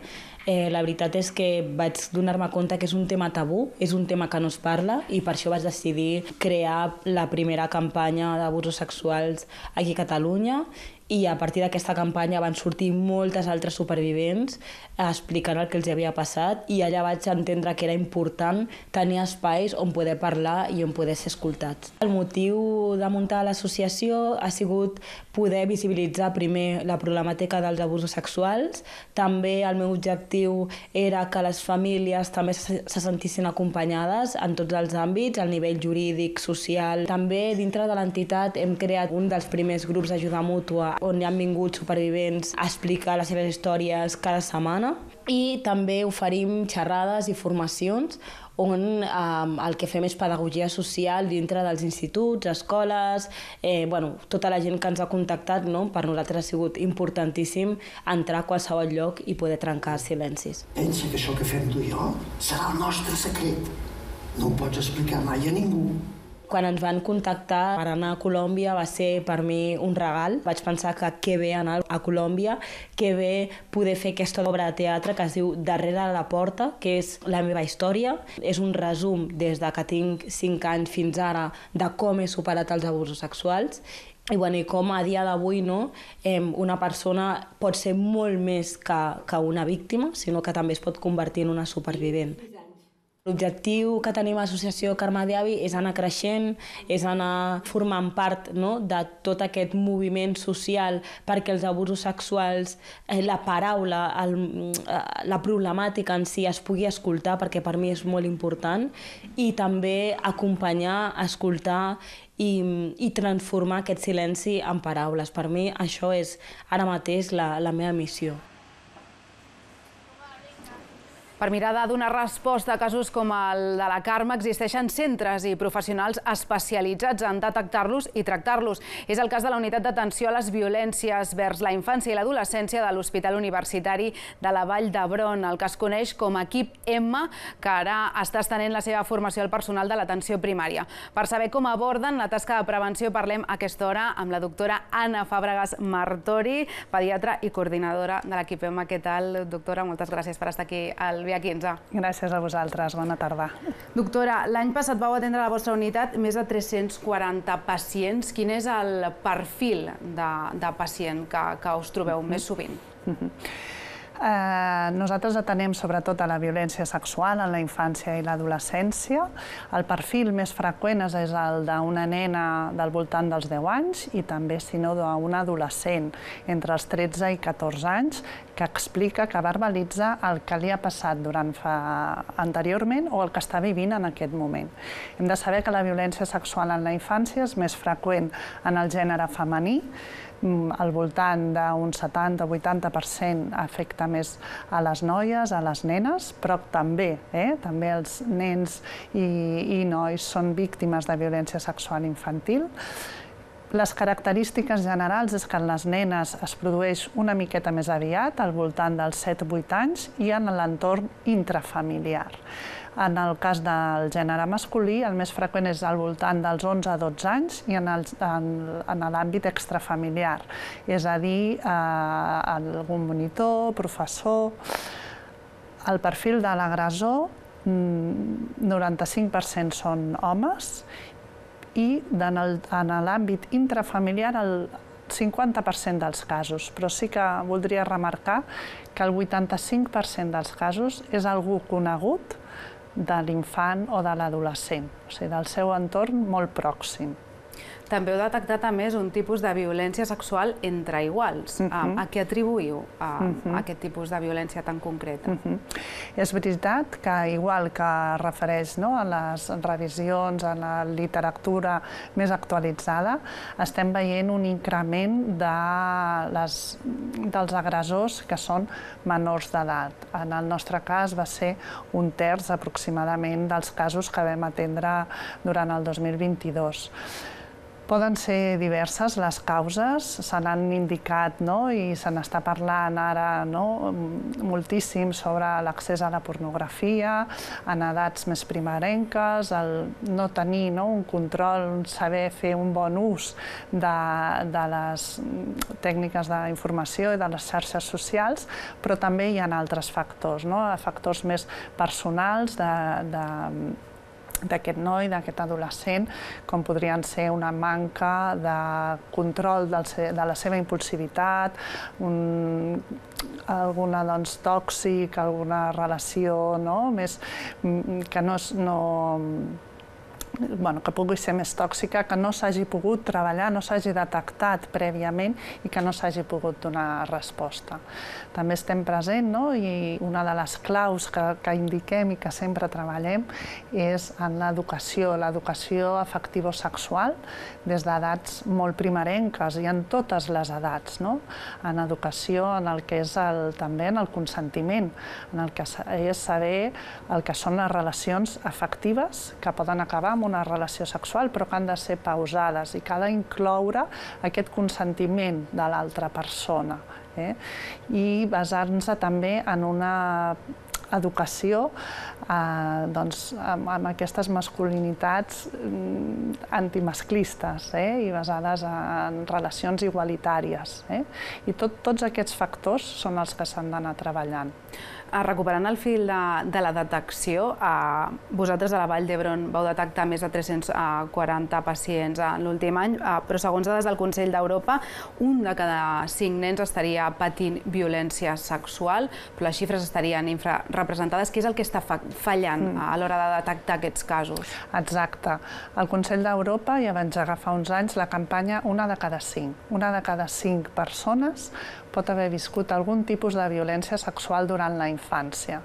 La veritat és que vaig donar-me compte que és un tema tabú, és un tema que no es parla i per això vaig decidir crear la primera campanya d'abusos sexuals aquí a Catalunya i a partir d'aquesta campanya van sortir moltes altres supervivents explicant el que els havia passat i allà vaig entendre que era important tenir espais on poder parlar i on poder ser escoltats. El motiu de muntar l'associació ha sigut poder visibilitzar primer la problemàtica dels abusos sexuals. També el meu objectiu era que les famílies també se sentissin acompanyades en tots els àmbits, al nivell jurídic, social. També dintre de l'entitat hem creat un dels primers grups d'ajuda mútua on hi han vingut supervivents a explicar les seves històries cada setmana i també oferim xerrades i formacions on el que fem és pedagogia social dintre dels instituts, escoles, tota la gent que ens ha contactat, per nosaltres ha sigut importantíssim entrar a qualsevol lloc i poder trencar silencis. Pensa que això que fem tu i jo serà el nostre secret. No ho pots explicar mai a ningú. Quan ens van contactar per anar a Colòmbia va ser per mi un regal. Vaig pensar que que bé anar a Colòmbia, que bé poder fer aquesta obra de teatre que es diu Darrere la porta, que és la meva història. És un resum des de que tinc 5 anys fins ara de com he superat els abusos sexuals i com a dia d'avui una persona pot ser molt més que una víctima, sinó que també es pot convertir en una supervivent. L'objectiu que tenim a l'Associació Carme Diaby és anar creixent, és anar formant part de tot aquest moviment social perquè els abusos sexuals, la paraula, la problemàtica en si es pugui escoltar, perquè per mi és molt important, i també acompanyar, escoltar i transformar aquest silenci en paraules. Per mi això és ara mateix la meva missió. Per mirar de donar resposta a casos com el de la Carme, existeixen centres i professionals especialitzats en detectar-los i tractar-los. És el cas de la Unitat d'Atenció a les Violències vers la Infància i l'Adolescència de l'Hospital Universitari de la Vall d'Hebron, el que es coneix com a Equip M, que ara està estenent la seva formació al personal de l'atenció primària. Per saber com aborden la tasca de prevenció, parlem a aquesta hora amb la doctora Anna Fàbregas Martori, pediatra i coordinadora de l'Equip M. Què tal, doctora? Moltes gràcies per estar aquí al Via 15. Gràcies a vosaltres, bona tarda. Doctora, l'any passat vau atendre a la vostra unitat més de 340 pacients. Quin és el perfil de pacient que us trobeu més sovint? Nosaltres atenem sobretot a la violència sexual en la infància i l'adolescència. El perfil més freqüent és el d'una nena del voltant dels 10 anys i també, si no, d'una adolescent entre els 13 i 14 anys que explica, que verbalitza el que li ha passat anteriorment o el que està vivint en aquest moment. Hem de saber que la violència sexual en la infància és més freqüent en el gènere femení, al voltant d'un 70-80% afecta més a les noies, a les nenes, però també els nens i nois són víctimes de violència sexual infantil. Les característiques generals és que en les nenes es produeix una miqueta més aviat, al voltant dels 7-8 anys, i en l'entorn intrafamiliar. En el cas del gènere masculí, el més freqüent és al voltant dels 11-12 anys i en l'àmbit extrafamiliar, és a dir, algun monitor, professor. El perfil de l'agressor, 95% són homes, i en l'àmbit intrafamiliar el 50% dels casos, però sí que voldria remarcar que el 85% dels casos és algú conegut de l'infant o de l'adolescent, o sigui, del seu entorn molt pròxim. També heu detectat, a més, un tipus de violència sexual entre iguals. A què atribuïu aquest tipus de violència tan concreta? És veritat que, igual que es refereix a les revisions, a la literatura més actualitzada, estem veient un increment dels agressors que són menors d'edat. En el nostre cas va ser un terç aproximadament dels casos que vam atendre durant el 2022. Poden ser diverses les causes, se n'han indicat i se n'està parlant ara moltíssim sobre l'accés a la pornografia, en edats més primerenques, el no tenir un control, saber fer un bon ús de les tècniques d'informació i de les xarxes socials, però també hi ha altres factors, factors més personals d'aquest noi, d'aquest adolescent, com podrien ser una manca de control de la seva impulsivitat, alguna tòxic, alguna relació més que pugui ser més tòxica, que no s'hagi pogut treballar, no s'hagi detectat prèviament i que no s'hagi pogut donar resposta. També estem present, i una de les claus que indiquem i que sempre treballem és en l'educació afectivo-sexual, des d'edats molt primerenques i en totes les edats, en educació, en el que és també en el consentiment, en el que és saber el que són les relacions afectives que poden acabar amb una relació sexual, però que han de ser pausades i que ha d'incloure aquest consentiment de l'altra persona. I basar-nos també en una educació amb aquestes masculinitats antimasclistes i basades en relacions igualitàries. I tots aquests factors són els que s'han d'anar treballant. Recuperant el fil de la detecció, vosaltres a la Vall d'Hebron vau detectar més de 340 pacients en l'últim any, però segons dades del Consell d'Europa, 1 de cada 5 nens estaria patint violència sexual, però les xifres estarien infrarrepresentades. Què és el que està fallant a l'hora de detectar aquests casos? Exacte. El Consell d'Europa ja va engegar fa uns anys la campanya 1 de cada 5. 1 de cada 5 persones pot haver viscut algun tipus de violència sexual durant la infància.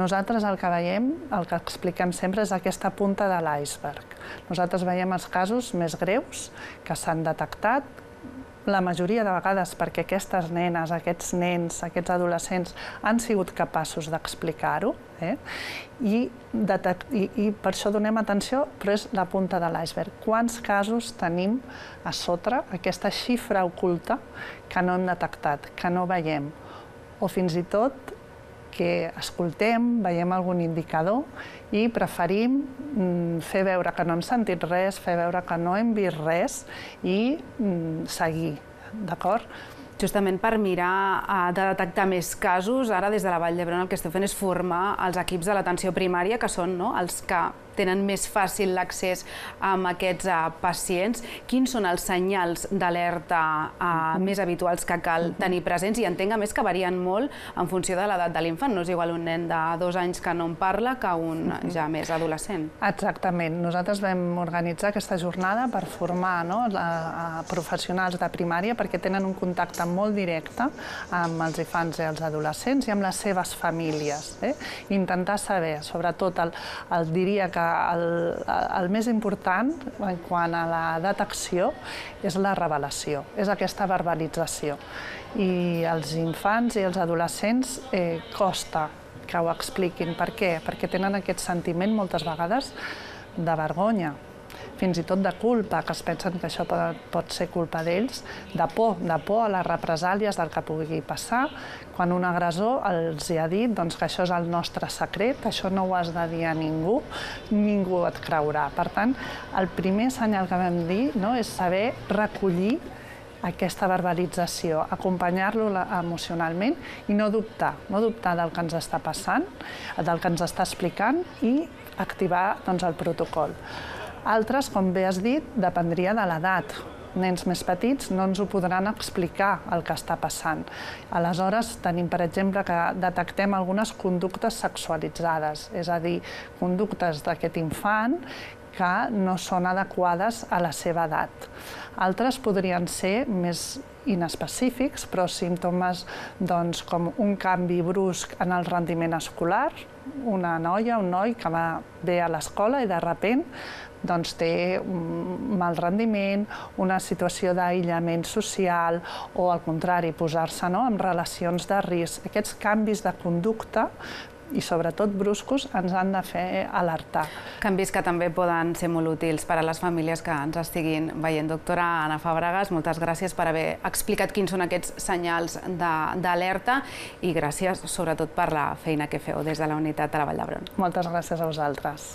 Nosaltres el que veiem, el que expliquem sempre, és aquesta punta de l'iceberg. Nosaltres veiem els casos més greus que s'han detectat, la majoria de vegades perquè aquestes nenes, aquests nens, aquests adolescents han sigut capaços d'explicar-ho, i per això donem atenció, però és la punta de l'iceberg. Quants casos tenim a sota, aquesta xifra oculta que no hem detectat, que no veiem, o fins i tot que escoltem, veiem algun indicador i preferim fer veure que no hem sentit res, fer veure que no hem vist res i seguir, d'acord? Justament per mirar de detectar més casos, ara des de la Vall d'Hebron el que esteu fent és formar els equips de l'atenció primària, que són els que tenen més fàcil l'accés a aquests pacients. Quins són els senyals d'alerta més habituals que cal tenir presents? I entenc, a més, que varien molt en funció de l'edat de l'infant. No és igual un nen de 2 anys que no en parla que un ja més adolescent. Exactament. Nosaltres vam organitzar aquesta jornada per formar professionals de primària perquè tenen un contacte molt directe amb els infants i els adolescents i amb les seves famílies. Intentar saber, sobretot, diria que el més important en quant a la detecció és la revelació, és aquesta verbalització. I als infants i als adolescents costa que ho expliquin. Per què? Perquè tenen aquest sentiment moltes vegades de vergonya, fins i tot de culpa, que es pensen que això pot ser culpa d'ells, de por a les represàlies del que pugui passar, quan un agressor els ha dit que això és el nostre secret, això no ho has de dir a ningú, ningú et creurà. Per tant, el primer senyal que vam dir és saber recollir aquesta verbalització, acompanyar-lo emocionalment i no dubtar del que ens està passant, del que ens està explicant i activar el protocol. Altres, com bé has dit, dependria de l'edat. Nens més petits no ens ho podran explicar el que està passant. Aleshores, tenim, per exemple, que detectem algunes conductes sexualitzades, és a dir, conductes d'aquest infant que no són adequades a la seva edat. Altres podrien ser més inespecífics, però símptomes com un canvi brusc en el rendiment escolar, una noia, un noi que va bé a l'escola i de sobte té un mal rendiment, una situació d'aïllament social o, al contrari, posar-se en relacions de risc. Aquests canvis de conducta i sobretot bruscos ens han de fer alertar. Canvis que també poden ser molt útils per a les famílies que ens estiguin veient. Doctora Anna Fàbregas, moltes gràcies per haver explicat quins són aquests senyals d'alerta i gràcies sobretot per la feina que feu des de la unitat de la Vall d'Hebron. Moltes gràcies a vosaltres.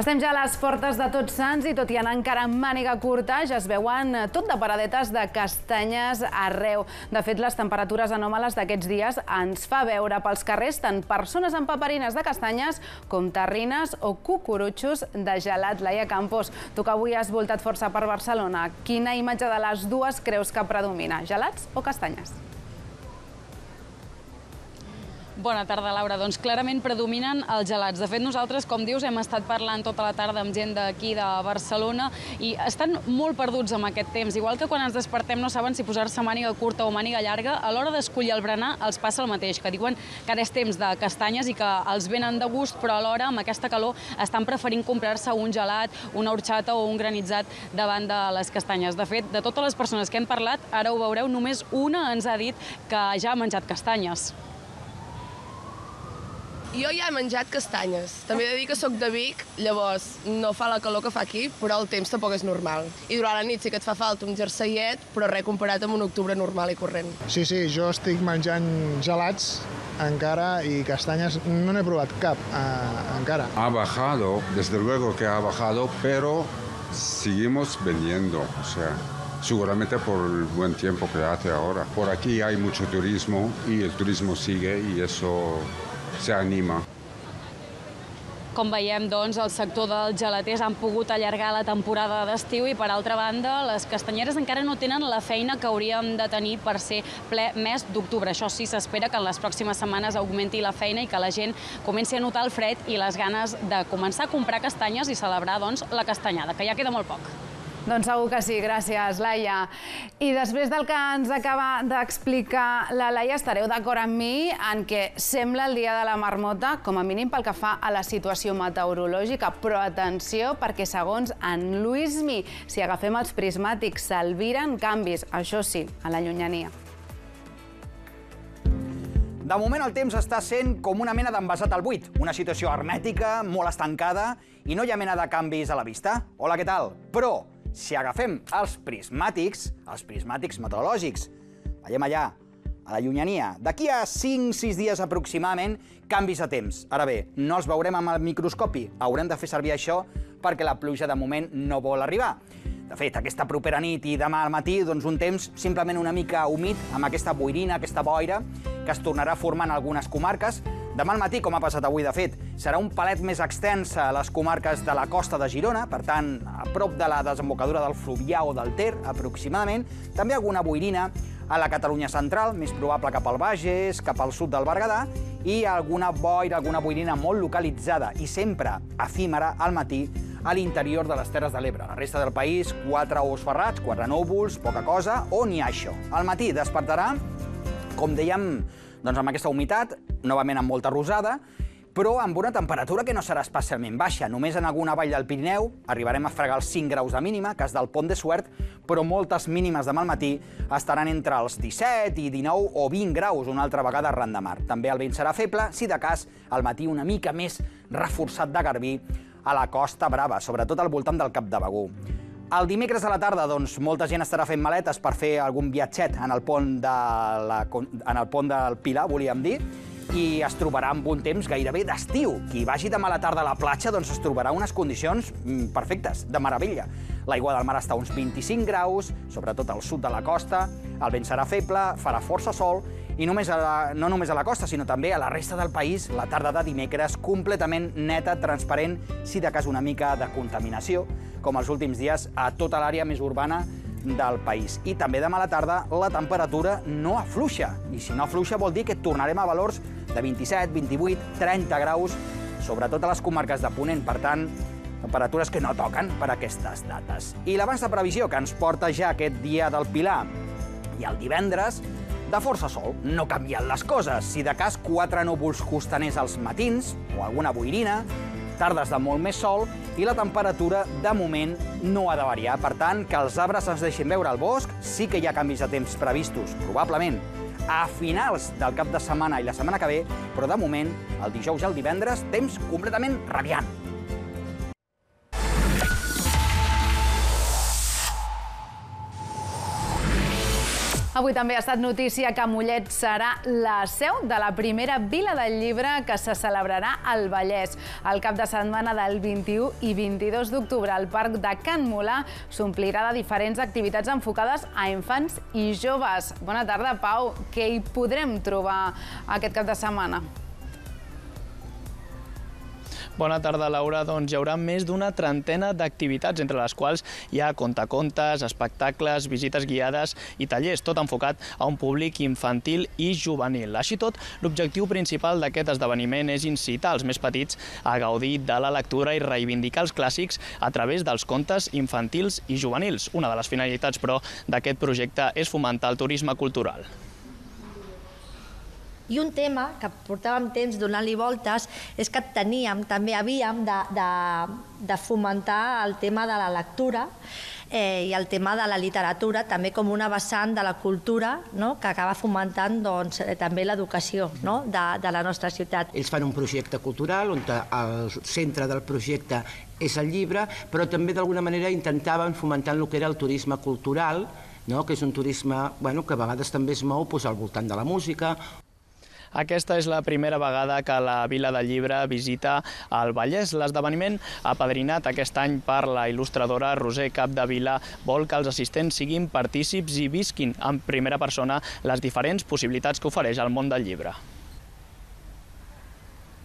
Estem ja a les portes de Tots Sants i tot i anar encara amb màniga curta ja es veuen tot de paradetes de castanyes arreu. De fet, les temperatures anòmales d'aquests dies ens fa veure pels carrers tant persones amb paperines de castanyes com terrines o cucurutxos de gelat. Laia Campos, tu que avui has voltat força per Barcelona, quina imatge de les dues creus que predomina, gelats o castanyes? Bona tarda, Laura. Doncs clarament predominen els gelats. De fet, nosaltres, com dius, hem estat parlant tota la tarda amb gent d'aquí de Barcelona i estan molt perduts amb aquest temps. Igual que quan ens despertem no saben si posar-se màniga curta o màniga llarga, a l'hora d'escollir el berenar els passa el mateix, que diuen que ara és temps de castanyes i que els venen de gust, però alhora, amb aquesta calor, estan preferint comprar-se un gelat, una horxata o un granitzat davant de les castanyes. De fet, de totes les persones que hem parlat, ara ho veureu, només una ens ha dit que ja ha menjat castanyes. Jo ja he menjat castanyes. També he de dir que soc de Vic, llavors no fa la calor que fa aquí, però el temps tampoc és normal. I durant la nit sí que et fa falta un jerseiet, però res comparat amb un octubre normal i corrent. Sí, jo estic menjant gelats encara i castanyes no n'he provat cap encara. Ha bajado, desde luego que ha bajado, pero seguimos vendiendo, o sea, seguramente por el buen tiempo que hace ahora. Por aquí hay mucho turismo y el turismo sigue y eso se anima. Com veiem, doncs, el sector dels gelaters han pogut allargar la temporada d'estiu i, per altra banda, les castanyeres encara no tenen la feina que hauríem de tenir per ser ple mes d'octubre. Això sí, s'espera que en les pròximes setmanes augmenti la feina i que la gent comenci a notar el fred i les ganes de començar a comprar castanyes i celebrar, doncs, la castanyada, que ja queda molt poc. Doncs segur que sí, gràcies, Laia. I després del que ens acaba d'explicar la Laia, estareu d'acord amb mi en què sembla el dia de la marmota, com a mínim pel que fa a la situació meteorològica. Però atenció, perquè segons en Luismi, si agafem els prismàtics, s'albiren canvis, això sí, a la llunyania. De moment el temps està sent com una mena d'envasat al buit, una situació hermètica, molt estancada, i no hi ha mena de canvis a la vista. Hola, què tal? Però si agafem els prismàtics meteorològics, veiem allà, a la llunyania, d'aquí a 5-6 dies aproximadament, canvis de temps. Ara bé, no els veurem amb el microscopi, haurem de fer servir això perquè la pluja de moment no vol arribar. De fet, aquesta propera nit i demà al matí, doncs un temps simplement una mica humit, amb aquesta boirina, aquesta boira, que es tornarà a formar en algunes comarques. Demà al matí, com ha passat avui, de fet, serà un palet més extens a les comarques de la costa de Girona, per tant, a prop de la desembocadura del Fluvià o del Ter, aproximadament. També alguna boirina a la Catalunya central, més probable cap al Bages, cap al sud del Berguedà, i alguna boira, alguna boirina molt localitzada i sempre efímera al matí a l'interior de les Terres de l'Ebre. La resta del país, 4 ous ferrats, 4 núvols, poca cosa, o ni això. Al matí despertarà, com dèiem, doncs amb aquesta humitat, novament amb molta rosada, però amb una temperatura que no serà especialment baixa. Només en alguna vall del Pirineu arribarem a fregar els 5 graus de mínima, cas del Pont de Suert, però moltes mínimes demà al matí estaran entre els 17 i 19 o 20 graus, una altra vegada arran de mar. També el vent serà feble, si de cas, al matí una mica més reforçat de garbí a la Costa Brava, sobretot al voltant del Cap de Begur. El dimecres a la tarda, doncs, molta gent estarà fent maletes per fer algun viatget en el pont del Pilar, volíem dir, i es trobarà amb un temps gairebé d'estiu. Qui vagi demà a la tarda a la platja doncs es trobarà unes condicions perfectes, de meravella. L'aigua del mar està a uns 25 graus, sobretot al sud de la costa, el vent serà feble, farà força sol, i no només a la costa, sinó també a la resta del país, la tarda de dimecres completament neta, transparent, si de cas una mica de contaminació, com els últims dies a tota l'àrea més urbana del país. I també demà a la tarda la temperatura no afluixa, i si no afluixa vol dir que tornarem a valors de 27, 28, 30 graus, sobretot a les comarques de Ponent, per tant, temperatures que no toquen per aquestes dates. I l'abans de previsió que ens porta ja aquest dia del Pilar i el divendres, de força sol, no canvien les coses. Si de cas, 4 núvols costaners als matins, o alguna boirina, tardes de molt més sol, i la temperatura, de moment, no ha de variar. Per tant, que els arbres ens deixin veure al bosc, sí que hi ha canvis de temps previstos, probablement a finals del cap de setmana i la setmana que ve, però de moment, el dijous i el divendres, temps completament radiant. Avui també ha estat notícia que Mollet serà la seu de la primera Vila del Llibre que se celebrarà al Vallès. El cap de setmana del 21 i 22 d'octubre al Parc de Can Molà s'omplirà de diferents activitats enfocades a infants i joves. Bona tarda, Pau. Què hi podrem trobar aquest cap de setmana? Bona tarda, Laura. Doncs hi haurà més d'una trentena d'activitats, entre les quals hi ha contacontes, espectacles, visites guiades i tallers, tot enfocat a un públic infantil i juvenil. Així tot, l'objectiu principal d'aquest esdeveniment és incitar els més petits a gaudir de la lectura i reivindicar els clàssics a través dels contes infantils i juvenils. Una de les finalitats, però, d'aquest projecte és fomentar el turisme cultural. I un tema que portàvem temps donant-li voltes és que havíem de fomentar el tema de la lectura i el tema de la literatura, també com una vessant de la cultura que acaba fomentant també l'educació de la nostra ciutat. Ells fan un projecte cultural on el centre del projecte és el llibre, però també d'alguna manera intentaven fomentar el que era el turisme cultural, que és un turisme que a vegades també es mou al voltant de la música. Aquesta és la primera vegada que la Vila del Llibre visita el Vallès. L'esdeveniment, apadrinat aquest any per la il·lustradora Roser Capdevila, vol que els assistents siguin partícips i visquin en primera persona les diferents possibilitats que ofereix el món del llibre.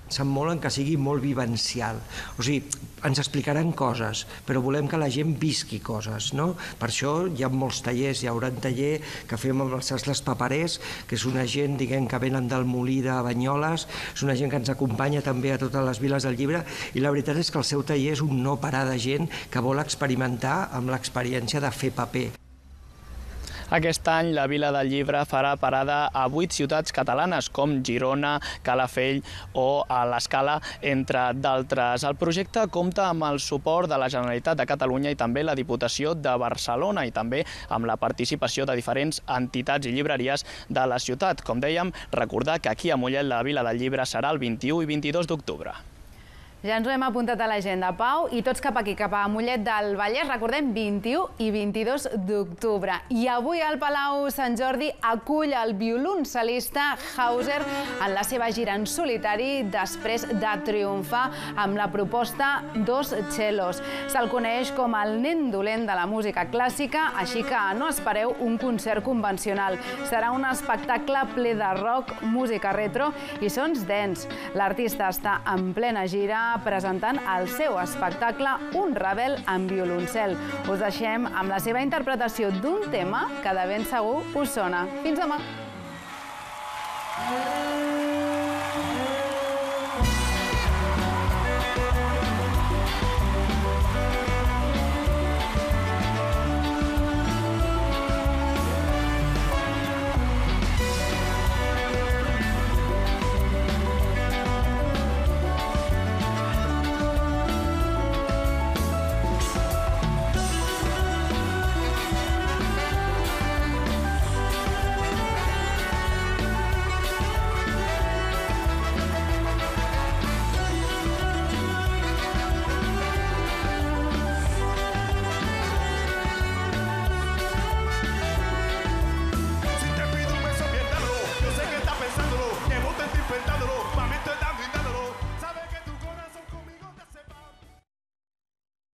Se'n molen que sigui molt vivencial. O sigui, ens explicaran coses, però volem que la gent visqui coses, no? Per això hi ha molts tallers. Hi haurà un taller que fem amb els sastres paperers, que és una gent, diguem, que venen del Molí de Banyoles, és una gent que ens acompanya també a totes les viles del llibre, i la veritat és que el seu taller és un no parar de gent que vol experimentar amb l'experiència de fer paper. Aquest any la Vila del Llibre farà parada a 8 ciutats catalanes, com Girona, Calafell o a l'Escala, entre d'altres. El projecte compta amb el suport de la Generalitat de Catalunya i també la Diputació de Barcelona i també amb la participació de diferents entitats i llibreries de la ciutat. Com dèiem, recordar que aquí a Mollet la Vila del Llibre serà el 21 i 22 d'octubre. Ja ens ho hem apuntat a l'agenda, Pau, i tots cap aquí, cap a Mollet del Vallès, recordem, 21 i 22 d'octubre. I avui el Palau Sant Jordi acull el violoncel·lista Hauser en la seva gira en solitari després de triomfar amb la proposta Dos Cellos. Se'l coneix com el nen dolent de la música clàssica, així que no espereu un concert convencional. Serà un espectacle ple de rock, música retro i sons dance. L'artista està en plena gira presentant el seu espectacle Un rebel amb violoncel. Us deixem amb la seva interpretació d'un tema que de ben segur us sona. Fins demà!